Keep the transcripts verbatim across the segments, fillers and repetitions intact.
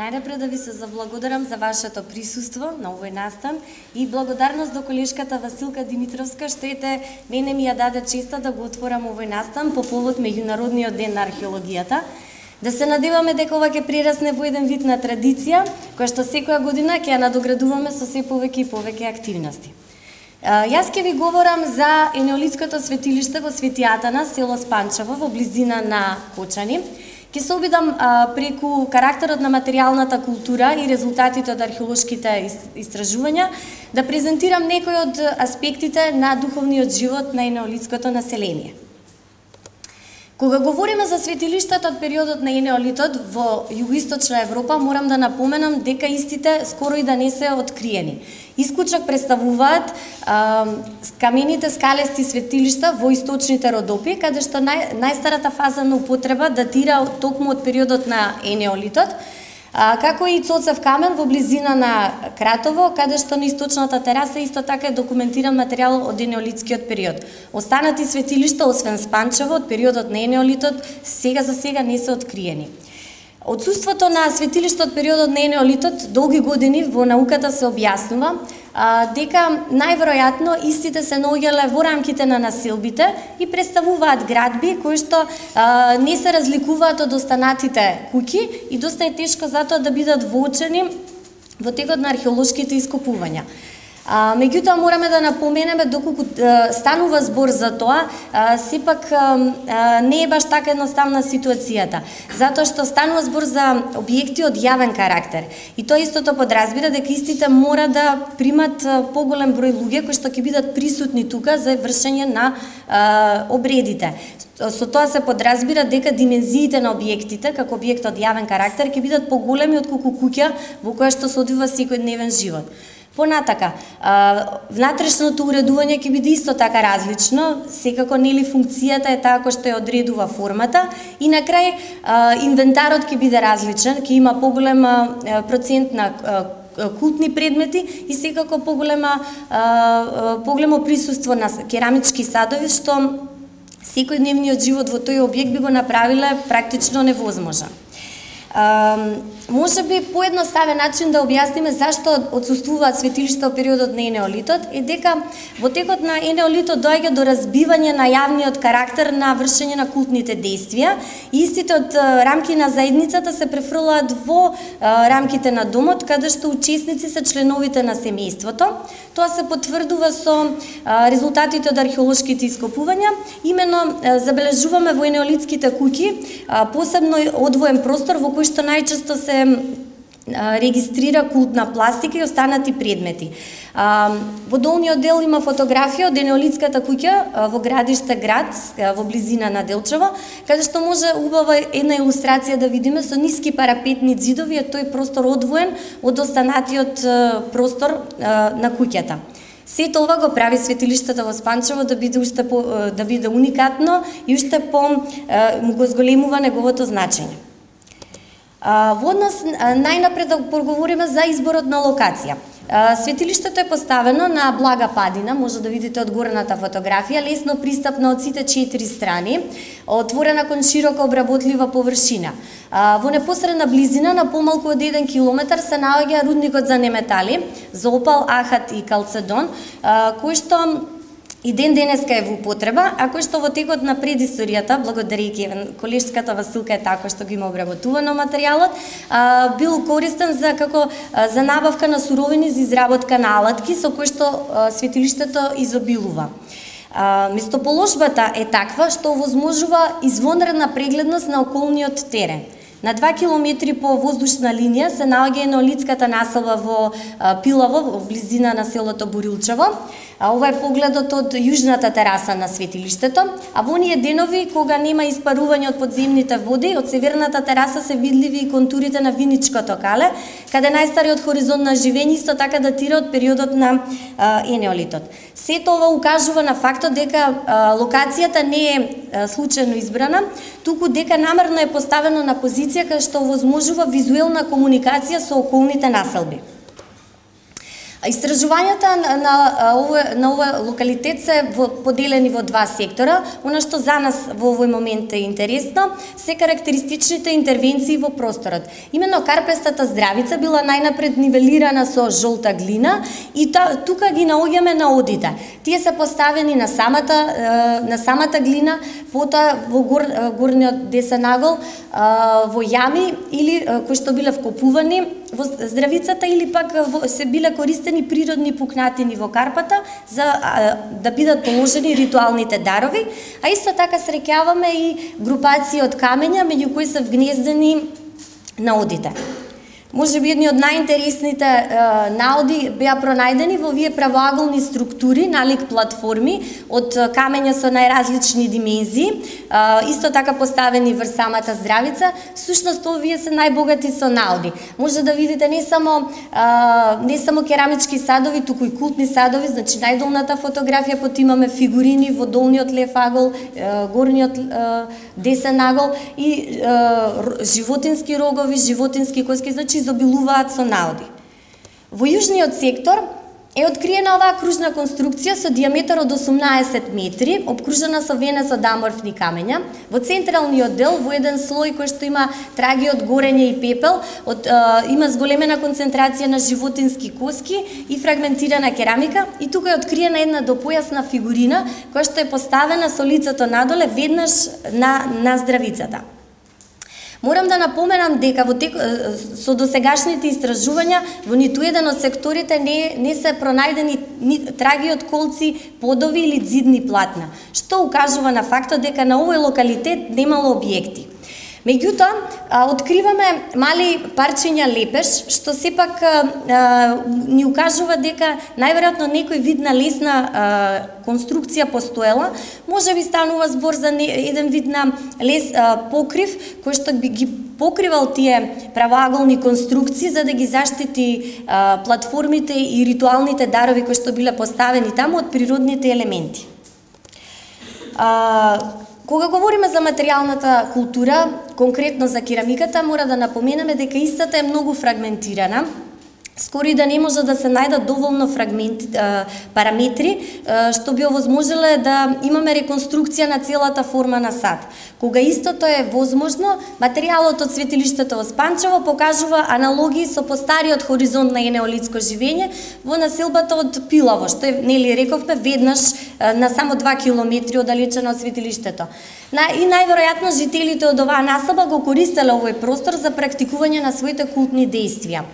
Најнапред да ви се заблагодарам за вашето присуство на овој настан и благодарност до колешката Василка Димитровска што ете мене ми ја даде честа да го отворам овој настан по повод Меѓународниот ден на археологијата. Да се надеваме дека ова ќе прерасне во еден вид на традиција, која што секоја година ќе ја надоградуваме со се повеќе и повеќе активности. Јас ќе ви говорам за енеолитското светилиште во Свети Атанас, село Спанчево, во близина на Кочани. Ќе се обидам а, преку карактерот на материјалната култура и резултатите од археолошките истражувања да презентирам некои од аспектите на духовниот живот на енеолитското население. Кога говориме за светилиштата од периодот на енеолитот во југоисточна Европа, морам да напоменам дека истите скоро и да не се откриени. Исклучок представуваат а, камените скалести светилишта во источните Родопи, каде што нај, најстарата фаза на употреба датира токму од периодот на енеолитот, а, како и Цоцев камен во близина на Кратово, каде што на источната тераса исто така е документиран материјал од енеолитскиот период. Останати светилишта, освен Спанчево, од периодот на енеолитот, сега за сега не се откриени. Отсуството на светилишта од периодот на енеолитот долги години во науката се објаснува а, дека најверојатно истите се наоѓале во рамките на населбите и представуваат градби кои што а, не се разликуваат од останатите куќи и доста е тешко затоа да бидат воочени во текот на археолошките ископувања. А, меѓутоа мораме да напоменеме доколку а, станува збор за тоа, а, сепак а, а, не е баш така едноставна ситуацијата, затоа што станува збор за објекти од јавен карактер. И тоа истото подразбира дека истите мора да примат а, поголем број луѓе кои што ќе бидат присутни тука за вршење на а, обредите. Со тоа се подразбира дека димензиите на објектите, како објект од јавен карактер, ќе бидат поголеми отколку куќа во која што се одвива секојдневен живот. Понатака, внатрешното уредување ќе биде исто така различно, секако нели функцијата е таа која што ја одредува формата и на крај инвентарот ќе биде различен, ќе има поголема процент на култни предмети и секако поголема поголемо присуство на керамички садови што секојдневниот живот во тој објект би го направиле практично невозможен. Uh, може би поедноставен начин да објасниме зашто отсуствуваат светилишта во периодот на енеолитот е дека во текот на енеолитот доаѓа до разбивање на јавниот карактер на вршење на култните действија и истите од рамки на заедницата се префрлаат во uh, рамките на домот, каде што учесници се членовите на семејството. Тоа се потврдува со uh, резултатите од археолошките ископувања. Имено uh, забележуваме во енеолитските куќи uh, посебно одвоен простор во кој што најчесто се регистрира култна пластика и останати предмети. Во долниот дел има фотографија од енеолитската куќа во градиште Град, во близина на Делчево, каде што може убава една илустрација да видиме со ниски парапетни ѕидови, е тој простор одвоен од останатиот простор на куќата. Сето ова го прави светилиштето во Спанчево да биде уште по, да биде уникатно и уште по му го зголемува неговото значење. Во однос најнапред да поговориме за изборот на локација. Светилиштето е поставено на блага падина, може да видите од горната фотографија, лесно пристапно од сите четири страни, отворена кон широко обработлива површина. Во непосредна близина на помалку од еден километар се наоѓа рудникот за неметали, за опал, ахат и калцедон, кој што и ден денеска е во употреба, а кој што во текот на предисторијата, благодарејќи колешката Василка е така што го има обработувано материјалот, бил користен за како за набавка на суровини за изработка на алатки со кои што светилиштето изобилува. Местоположбата е таква што овозможува извонредна прегледност на околниот терен. На два километри по воздушна линија се наоѓа енеолитската населба во Пилаво, во близина на селото Борилчево. Ова е погледот од јужната тераса на светилиштето, а во оние денови кога нема испарување од подземните води, од северната тераса се видливи и контурите на Виничкото кале, каде најстариот хоризонт на живење исто така датира од периодот на а, енеолитот. Сето ова укажува на фактот дека а, локацијата не е а, случајно избрана, туку дека намерно е поставено на позиција каде што овозможува визуелна комуникација со околните населби. Истражувањата на, на, овој, на овој локалитет се во, поделени во два сектора. Она што за нас во овој момент е интересно се карактеристичните интервенции во просторот. Имено карпестата здравица била најнапред нивелирана со жолта глина и та, тука ги наоѓаме на одите. Тие се поставени на самата, на самата глина, потоа во гор, горниот десен агол, во јами или кои што биле вкопувани во здравицата или пак се биле користени природни пукнатини во карпата за а, да бидат положени ритуалните дарови, а исто така среќаваме и групации од камења меѓу кои се вгнездени наодите. Може би едни од најинтересните е, наоди беа пронајдени во овие правоаголни структури, налик платформи од камења со најразлични димензии, е, исто така поставени врз самата здравица. Всушност овие се најбогати со наоди. Може да видите не само е, не само керамички садови, туку и култни садови, значи најдолната фотографија потоа имаме фигурини во долниот лев агол, е, горниот е, десен агол и е, животински рогови, животински коски, значи изобилуваат со наоди. Во јужниот сектор е откриена оваа кружна конструкција со диаметар од осумнаесет метри, обкружена со венец од аморфни камења. Во централниот дел, во еден слој кој што има траги од горење и пепел, од, е, има зголемена концентрација на животински коски и фрагментирана керамика, и тука е откриена една допојасна фигурина која што е поставена со лицето надоле веднаш на, на здравицата. Морам да напоменам дека во тек, со досегашните истражувања во ниту еден од секторите не, не се пронајдени ни траги од колци, подови или зидни платна, што укажува на фактот дека на овој локалитет немало објекти. Меѓутоа, откриваме мали парчиња лепеш, што сепак а, ни укажува дека најверојатно некој вид на лесна а, конструкција постоела, може би станува збор за не, еден вид на лес а, покрив, кој што би ги покривал тие правоаголни конструкции за да ги заштити а, платформите и ритуалните дарови кои што биле поставени таму од природните елементи. А, Кога говориме за материјалната култура, конкретно за керамиката, мора да напоменеме дека истата е многу фрагментирана. Скоро и да не може да се најдат доволно фрагменти, параметри, што би овозможеле да имаме реконструкција на целата форма на сад. Кога истото е возможно, материјалот од светилиштето во Спанчево покажува аналогии со постариот хоризонт на енеолитско живење во населбата од Пилаво, што е, нели рековме, веднаш на само два километри оддалечено од светилиштето. И најверојатно жителите од оваа населба го користеле овој простор за практикување на своите култни дејствија.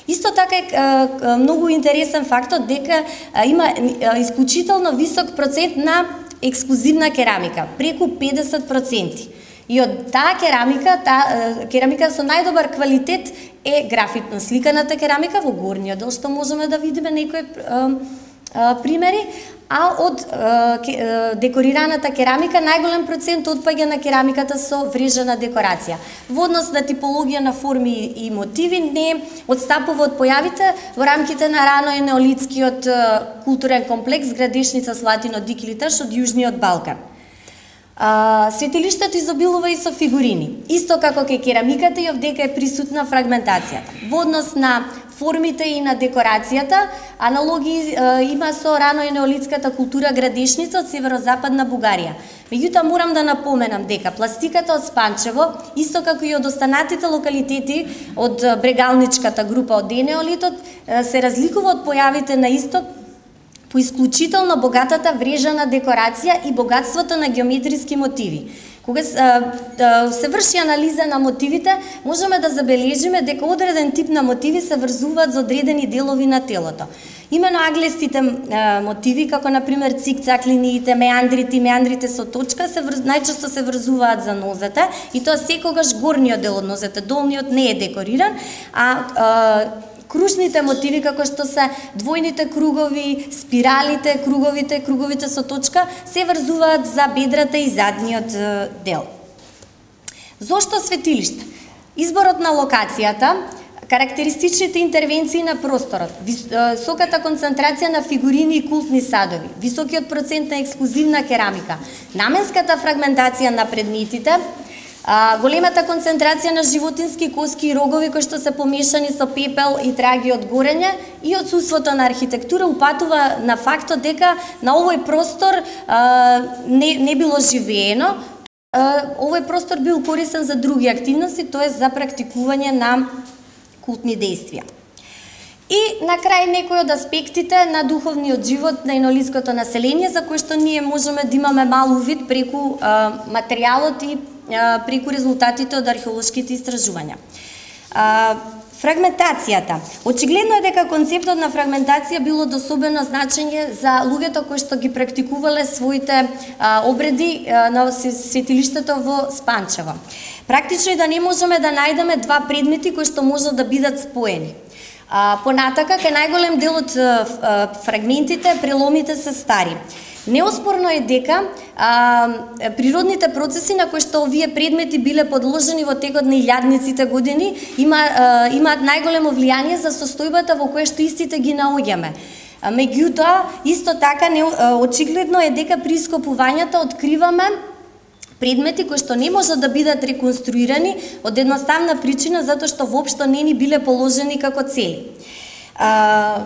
Исто така е многу интересен фактот дека има исклучително висок процент на ексклузивна керамика, преку педесет проценти. И од таа керамика, таа керамика со најдобар квалитет е графитно сликаната керамика во горниот дел, што можеме да видиме некои примери, а од е, декорираната керамика најголем процент отпаѓа на керамиката со врежена декорација. Во однос на типологија на форми и мотиви не одстапува од појавите во рамките на рано енеолитскиот културен комплекс Градешница, Слатино, Дик или Таш од Јужниот Балкан. А, светилиштето изобилува и со фигурини. Исто како кај керамиката и овдека е присутна фрагментацијата. Во однос на формите и на декорацијата, аналогии е, има со рано енеолитската култура Градешница од северозападна Бугарија. Меѓутоа морам да напоменам дека пластиката од Спанчево, исто како и од останатите локалитети од брегалничката група од енеолитот, се разликува од појавите на исток по исклучително богатата врежана декорација и богатството на геометриски мотиви. Кога се врши анализа на мотивите, можеме да забележиме дека одреден тип на мотиви се врзуваат за одредени делови на телото. Имено аглестите мотиви, како например цикцак линиите, меандрите и меандрите со точка, се врз... најчесто се врзуваат за нозете, и тоа секогаш горниот дел од нозете, долниот не е декориран, а, а кружните мотиви, како што се двојните кругови, спиралите, круговите, круговите со точка, се врзуваат за бедрата и задниот дел. Зошто светилиште? Изборот на локацијата, карактеристичните интервенции на просторот, високата концентрација на фигурини и култни садови, високиот процент на ексклузивна керамика, наменската фрагментација на предметите, А, големата концентрација на животински коски и рогови кои што се помешани со пепел и траги од горење и отсуството на архитектура упатува на фактот дека на овој простор а, не, не било живеено. А, овој простор бил користен за други активности, тоа е за практикување на култни дејствија. И на крај некои од аспектите на духовниот живот на инолиското население за кој што ние можеме да имаме мал увид преку а, материјалот и а, преку резултатите од археолошките истражувања. А, фрагментацијата. Очигледно е дека концептот на фрагментација било од особено значење за луѓето кои што ги практикувале своите а, обреди а, на светилиштето во Спанчево. Практично и да не можеме да најдеме два предмети кои што можат да бидат споени. А, понатака, кај најголем дел од а, фрагментите, преломите се стари. Неоспорно е дека а, природните процеси на кои што овие предмети биле подложени во текот на илјадниците години има, а, имаат најголемо влијание за состојбата во која што истите ги наоѓаме. Меѓутоа, исто така не, а, очигледно е дека при ископувањата откриваме предмети кои што не можат да бидат реконструирани од едноставна причина затоа што воопшто не ни биле положени како цели. А,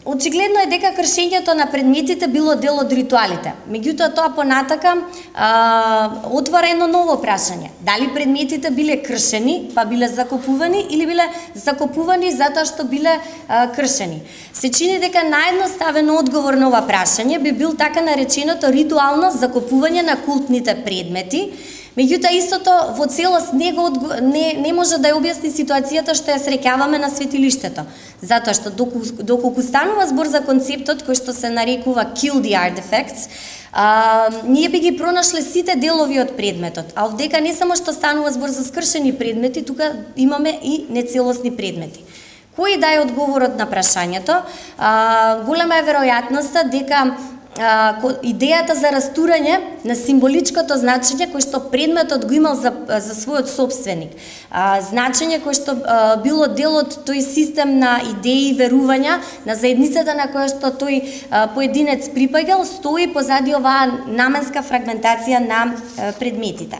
очигледно е дека кршењето на предметите било дел од ритуалите. Меѓутоа тоа понатака а, отвора едно ново прашање. Дали предметите биле кршени, па биле закопувани или биле закопувани затоа што биле а, кршени? Се чини дека наједноставен одговор на ова прашање би бил така нареченото ритуално закопување на култните предмети. Меѓутоа истото во целост не, го, не, не може да ја објасни ситуацијата што ја среќаваме на светилиштето. Затоа што доколку, доколку станува збор за концептот кој што се нарекува kill the artifacts, а, ние би ги пронашле сите делови од предметот. А овдека не само што станува збор за скршени предмети, тука имаме и нецелосни предмети. Кој да е одговорот на прашањето? А, голема е веројатноста дека идејата за растурање на символичкото значење кој што предметот го имал за, за својот собственик. А, значење кој што а, било дел од тој систем на идеи и верувања на заедницата на која што тој а, поединец припаѓал, стои позади оваа наменска фрагментација на а, предметите.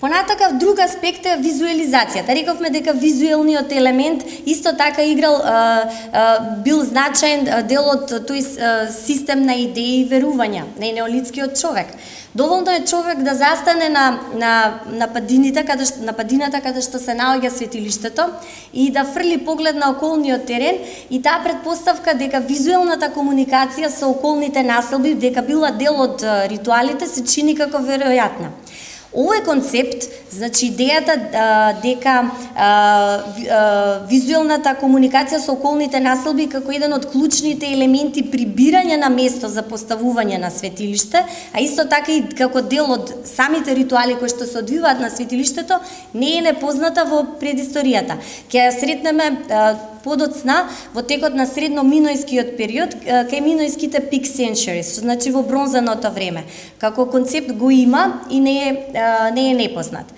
Понатака, друг аспект е визуализацијата. Рековме дека визуелниот елемент исто така играл, а, а, бил значаен дел од тој а, систем на идеи и верувања на неолитскиот човек. Доволно е човек да застане на, на, на, падините, каде, на падината каде што се наоѓа светилиштето и да фрли поглед на околниот терен и таа предпоставка дека визуелната комуникација со околните населби, дека била дел од ритуалите, се чини како веројатна. Овој концепт, значи идејата а, дека а, а, визуелната комуникација со околните населби како еден од клучните елементи при бирање на место за поставување на светилиште, а исто така и како дел од самите ритуали кои што се одвиваат на светилиштето, не е непозната во предисторијата. Ќе ја сретнеме а, подоцна во текот на средно-минојскиот период, кај минојските peak centuries, значи во бронзаното време. Како концепт го има и не е, не е непознат.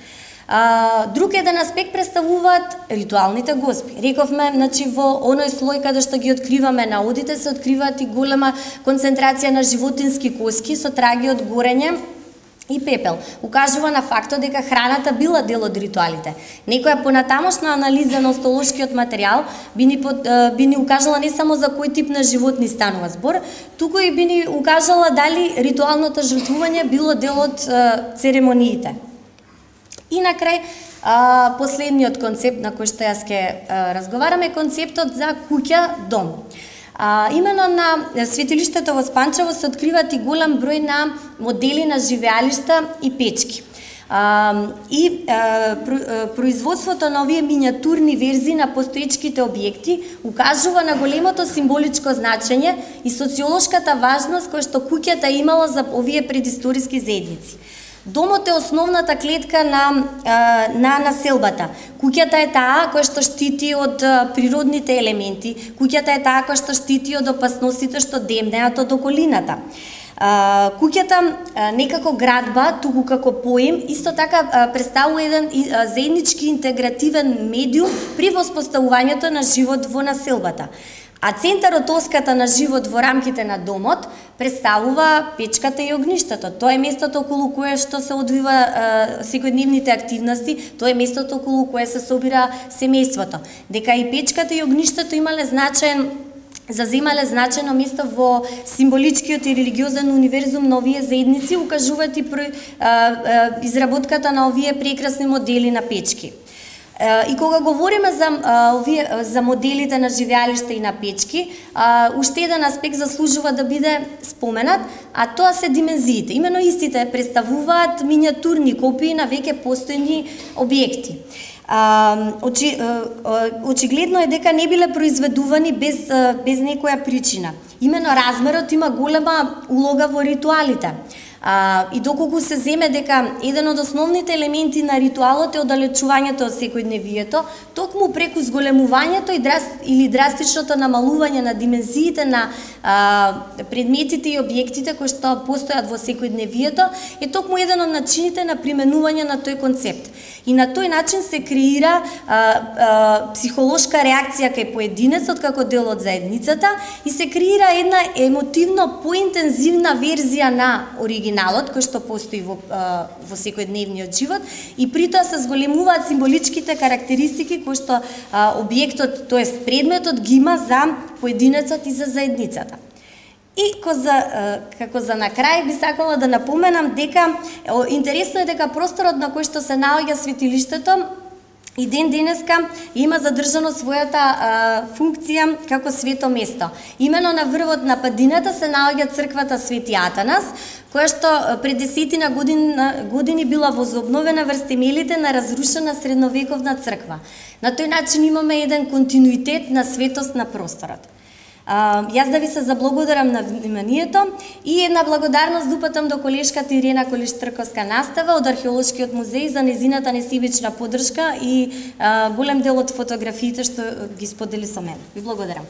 Друг еден аспект представуваат ритуалните госпи. Рековме, значи во оној слој каде што ги откриваме наодите, се откриваат и голема концентрација на животински коски со траги од горење и пепел. Укажува на фактот дека храната била дел од ритуалите. Некоја понатамошна анализа на остолошкиот материјал би ни, под, би ни укажала не само за кој тип на животни станува збор, туку и би ни укажала дали ритуалното жртвување било дел од церемониите. И на крај, последниот концепт на кој што јас ќе разговараме е концептот за куќа-дом. А, имено на светилиштето во Спанчево се откриваат и голем број на модели на живеалишта и печки. А, и а, производството на овие миниатурни верзии на постоечките објекти укажува на големото символичко значење и социолошката важност која што куќата имала за овие предисториски заедници. Домот е основната клетка на, на населбата. Куќата е таа која што штити од природните елементи, куќата е таа која што штити од опасностите што демнеат од околината. Куќата не како градба, туку како поем, исто така представува еден заеднички интегративен медиум при воспоставувањето на живот во населбата. А центарот тоската на живот во рамките на домот представува печката и огништето. Тоа е местото околу кое што се одвива е, секојдневните активности, тоа е местото околу кое се собира семејството. Дека и печката и огништето имале значаен заземале значајно место во символичкиот и религиозен универзум на овие заедници, укажуваат и при, а, а, изработката на овие прекрасни модели на печки. И кога говориме за а, овие за моделите на живеалишта и на печки, а, уште еден аспект заслужува да биде споменат, а тоа се димензиите. Имено истите представуваат миниатурни копии на веќе постојни објекти. А, очи, а, очигледно е дека не биле произведувани без, а, без некоја причина. Имено размерот има голема улога во ритуалите. А, и доколку се земе дека еден од основните елементи на ритуалот е оддалечувањето од секојдневието, токму преку зголемувањето и драст, или драстичното намалување на димензиите на а, предметите и објектите кои што постојат во секојдневието, е токму еден од начините на применување на тој концепт. И на тој начин се креира а, а, психолошка реакција кај поединецот како дел од заедницата и се креира една емотивно поинтензивна верзија на оригиналот кој што постои во, а, во секојдневниот живот и притоа се зголемуваат символичките карактеристики кои што а, објектот, тоест предметот ги има за поединецот и за заедницата. И за, како за на крај би сакала да напоменам дека интересно е дека просторот на кој што се наоѓа светилиштето и ден денеска има задржано својата а, функција како свето место. Имено на врвот на падината се наоѓа црквата Свети Атанас, која што пред десетина години, години била возобновена врз темелите на разрушена средновековна црква. На тој начин имаме еден континуитет на светост на просторот. Uh, јас да ви се заблагодарам на вниманието и една благодарност да упатам до колешката Ирена Колиш-Трковска настава од Археолошкиот музеј за незината несебична поддршка и uh, голем дел од фотографиите што ги сподели со мене. Ви благодарам.